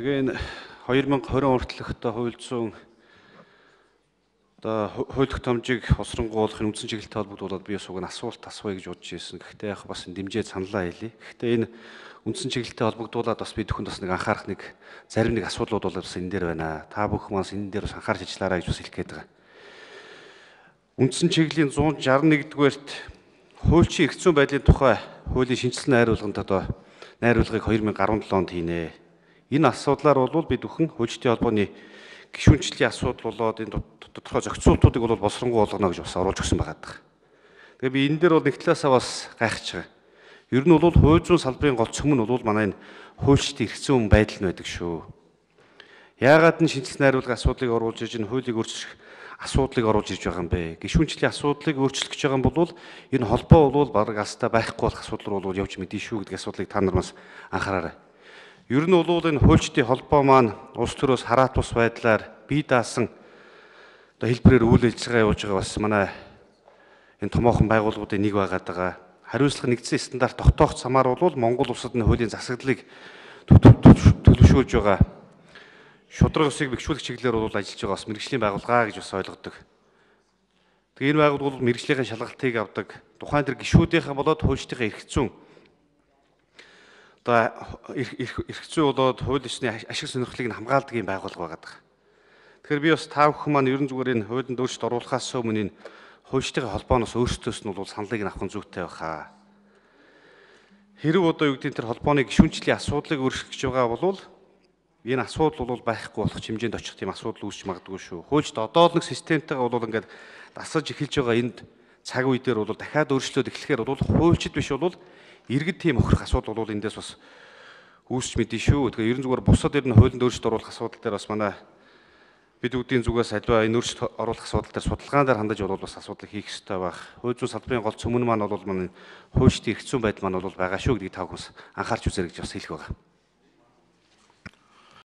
Тэгээ энэ 2020 хүртэлх хууль зүйн хууль тогтоомжийг усрангуулах үндсэн чиглэлтэй холбогдуулаад би бас уг нь асуулт асууя гэж бодож ирсэн. Гэхдээ яг бас дэмжиж саналаа хэлье. Гэхдээ энэ үндсэн чиглэлтэй холбогдуулаад бас би түүхэнд бас нэг анхаарах зарим асуудлууд бол бас энэ дээр байна. Та бүхэн бас энэ дээр бас анхаарч ажиллаарай гэж бас хэлэх гээд байгаа. Үндсэн чиглэлийн 161-р хуульчийн эрх зүйн байдлын тухай хуулийн шинжилсэн найруулгыг 2017 онд хийнэ. Энэ асуудлаар бол бид бүхэн хуульчдын холбооны гишүүнчлийн асуудал болоод энэ тодорхой зохицуултуудыг бол боловсронгуй болгоно гэж бас оруулж өгсөн байгаа. Тэгээ би энэ дээр бол нэг талаасаа бас гайхаж байгаа. Ер нь бол хууль зүйн салбарын гол цөм нь бол манай энэ хуульчдын эрх зүйн байдал нь байдаг шүү. Яагаад энэ шинжилсэн найруулгын асуудлыг оруулж ирж энэ хуулийг өөрчлөх асуудлыг оруулж ирж байгаа юм бэ? Гишүүнчлийн асуудлыг өөрчлөх гэж байгаа юм бол энэ холбоо бол бараг алстаа байхгүй болох асуудал бол явж мэдэн шүү гэдэг асуудлыг та нар бас анхаараарай. Ер нь бол энэ хуульчдын холбоо маань улс төрөөс хараат бус байдлаар бие даасан хэлбэрээр үйл ажиллагаа явуулж байгаа бас манай энэ томоохон байгууллагуудын нэг байгаа. Хариуцлага нэгдсэн стандарт тогтоох замаар бол Монгол улсад энэ хуулийн засаглалыг төлөвшүүлж байгаа. Шударга ёсыг бэхжүүлэх чиглэлээр бол ажиллаж байгаа бас мэргэжлийн байгууллага гэж бас ойлгодог. Тэгээ энэ байгууллага бол мэргэжлийн шалгалтыг авдаг. Тухайн тэр гишүүдийнхээ болоод хуульчдын эрх зүйн эрх зүй болоод хууль ёсны ашиг сонирхлыг нь хамгаалдаг юм байгууллага байгаа. Тэгэхээр би бас та бүхэн маань ерөн зүгээр энэ хуулинд өөрчлөлт оруулахаас өмнө энэ хуульчдын холбооноос өөрсдөөс нь бол саналыг авах нь зүйтэй байхаа. Хэрэг одоо юу гэдэг тэр холбооны гишүүнчлийн асуудлыг өөрчлөх гэж байгаа бол энэ асуудал бол байхгүй болох хэмжээнд очих тийм асуудал үүсч магадгүй шүү. Хуульчд одоо л нэг системтэйгээ бол ингээд дасаж эхэлж байгаа энд цаг үе дээр бол дахиад өөрчлөлт эхлэхээр бол хуульчд биш бол иргэд тийм охирох асуудал бол эндээс бас үүсч мэдэн шүү. Тэгэхээр ерөн зүгээр бусад ер нь хуулинд өөрчлөлт оруулах асуудал дээр бас манай бид үүдийн зүгээс аливаа энэ өөрчлөлт оруулах асуудал дээр судалгаан дээр хандаж бол бас асуудал хийх ёстой байх. Хууль зүйн салбарын гол цөм нь маань бол манай хуульчдын эрх зүйн байдал маань бол байгаа шүү гэдгийг та бүхэн анхаарч үзээрэй гэж бас хэлэх байгаа.